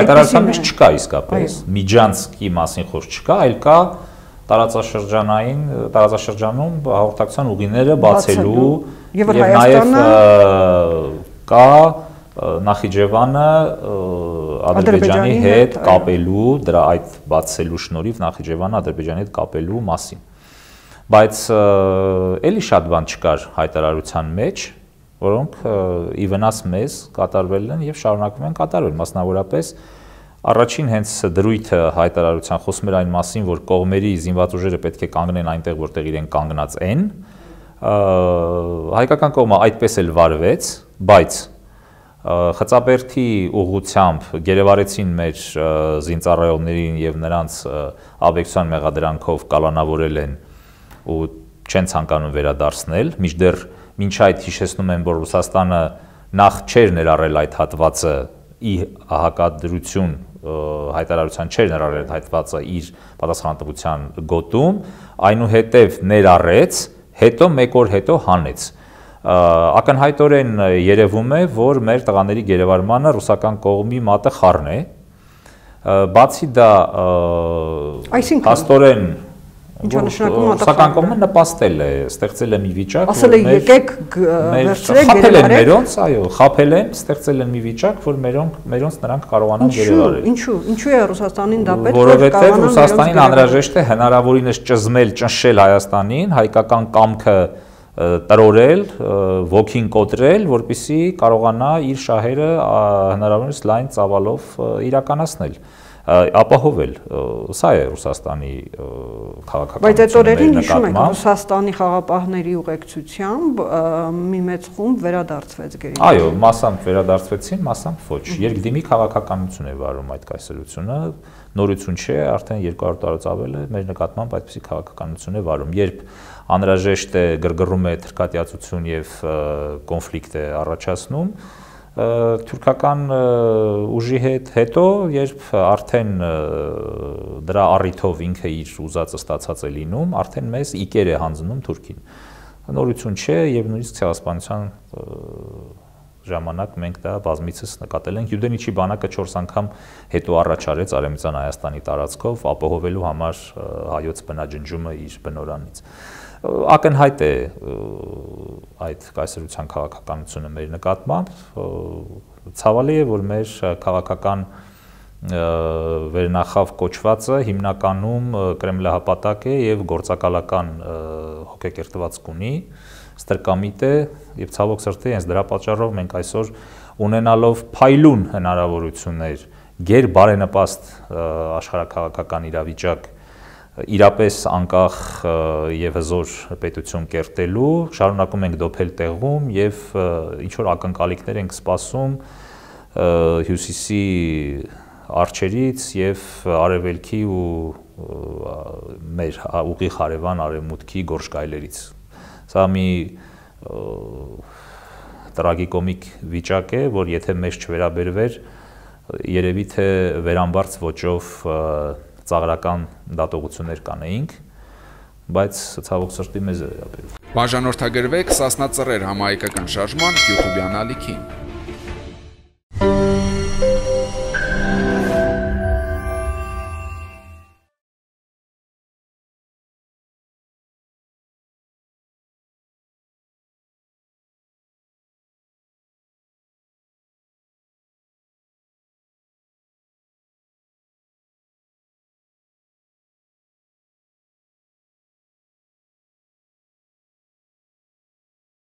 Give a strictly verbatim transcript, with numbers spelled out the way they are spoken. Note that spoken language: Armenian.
հայտարարության մեջ չկա իսկապես, Միջանցքի մասին խոսք չկա, այլ կա տարածաշրջանային, տարածաշրջանում հաղորդակցության ուղիները բացելու եւ նաեւ կա Նախիջևանը Ադրբեջանի հետ կապելու, դրա այդ բացելու շնորհիվ Նախիջևանը Ադրբեջանի հետ կապելու մասին։ Բայց էլի շատ բան չկար հայտարարության մեջ, որոնք ի վնաս մեզ կատարվել են եւ շարունակվում են կատարվել, մասնավորապես առաջին հենց դրույթը հայտարարության խոսում էր այն մասին, որ կողմերի զինված ուժերը պետք է կանգնեն այնտեղ, որտեղ իրենք կանգնած են։ Հայկական կողմը այդպես էլ վարվեց, բայց Խծաբերդի ուղղությամբ գերեվարեցին մեր զինծառայողներին եւ նրանց աբեկցիոն մեղադրանքով կալանավորել են ու չեն ցանկանում վերադարձնել, մինչդեռ մինչ այդ հիշեցնում եմ, որ Ռուսաստանը նախ չէր ներառել այդ հատվածը ի հակադրություն հայտարարության չէր ներառել այդ հատվածը իր պատասխանատվության գոտում, այնուհետև ներառեց, հետո մեկ օր հետո հանեց։ Ակնհայտորեն երևում է, որ մեր տղաների գերեվարմանը ռուսական կողմի մատը խառն է, բացի դա հաստորեն ռուսական կողմը նպաստել է, ստեղծել է մի վիճակ, ասել է եկեք վերցրեք գերեվարեք, այո, խաբել են, ստեղծել են մի վիճակ, որ մերոնց նրանք կարողանան գերեվարել։ Ինչու՞, ինչու է Ռուսաստանին դա պետք, որովհետև Ռուսաստանին անհրաժեշտ է հնարավորինս ճզմել, ճնշել Հայաստանին, հայկական կամքը տրորել, ոգին կոտրել, որպեսզի կարողանա իր շահերը հնարավորինս լայն ծավալով իրականացնել, ապահովել։ Սա է Ռուսաստանի քաղաքականությունը։ Բայց այդ օրերին հիշում եք, Ռուսաստանի խաղապահների ուղեկցությամբ մի մեծ խումբ վերադարձվեց գերի։ Այո, մասամբ վերադարձվեցին, մասամբ ոչ։ Երկդիմի քաղաքականություն է վարում այդ կայսրությունը, նորություն չէ, արդեն երկու հարյուր տարուց ավել է մեր նկատմամբ այդպիսի քաղաքականություն է վարում։ Երբ անհրաժեշտ է գրգռում է թրքատյացություն եւ կոնֆլիկտ է առաջացնում, թուրքական ուժի հետ հետո, երբ արդեն դրա առիթով ինքը իր ուզածը ստացած է լինում, արդեն մեզ իկեր է հանձնում Թուրքին։ Նորություն չէ եւ նույնիսկ ցեղասպանության ժամանակ մենք դա բազմիցս նկատել ենք։ Յուդենիչի բանակը չորս անգամ հետո առաջարեց Արևմտյան Հայաստանի տարածքով ապահովելու համար հայոց բնաջնջումը իր բնորանից։ Ակնհայտ է այդ կայսրության քաղաքականությունը մեր նկատմամբ, ցավալի է, որ մեր քաղաքական վերնախավ կոչվածը հիմնականում կրեմլահպատակ է եւ գործակալական հոգեկերտվածք ունի, ստրկամիտ է եւ ցավոք սրտի հենց դրա պատճառով մենք այսօր ունենալով փայլուն հնարավորություններ գեր բարենպաստ աշխարհաքաղաքական իրավիճակ իրապես անկախ եւ հզոր պետություն կերտելու, շարունակում ենք դոփել տեղում եւ ինչ որ ակնկալիքներ ենք սպասում հյուսիսի արջերից եւ արևելքի ու մեր ուղիղ հարևան արևմուտքի գործգայլերից։ Սա մի տրագիկոմիկ վիճակ է, որ եթե մեզ չվերաբերվեր, երևի թե վերամբարձ ոճով ծաղրական դատողություններ կանեինք, բայց ցավոք սրտի մեզ է վերաբերվում։ Բաժանորդագրվեք Սասնա Ծռեր համահայկական շարժման YouTube ալիքին։